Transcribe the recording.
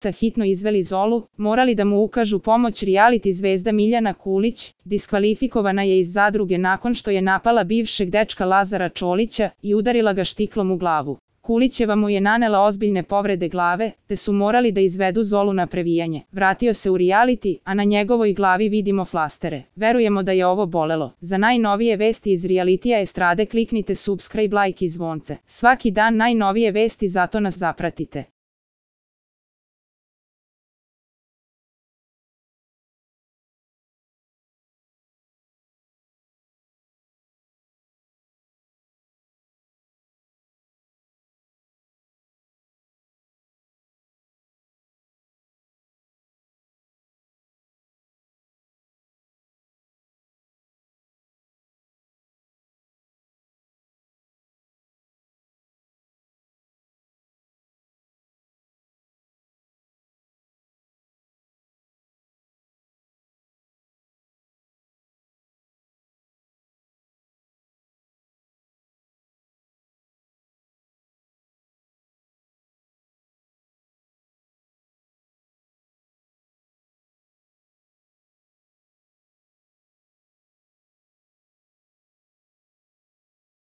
hitno izveli Zolu, morali da mu ukažu pomoć. Reality zvezda Miljana Kulić diskvalifikovana je iz zadruge nakon što je napala bivšeg dečka Lazara Čolića i udarila ga štiklom u glavu. Kulićeva mu je nanela ozbiljne povrede glave, te su morali da izvedu Zolu na previjanje. Vratio se u reality, a na njegovoj glavi vidimo flastere. Verujemo da je ovo bolelo. Za najnovije vesti iz realitija estrade kliknite subscribe, like i zvonce. Svaki dan najnovije vesti, zato nas zapratite.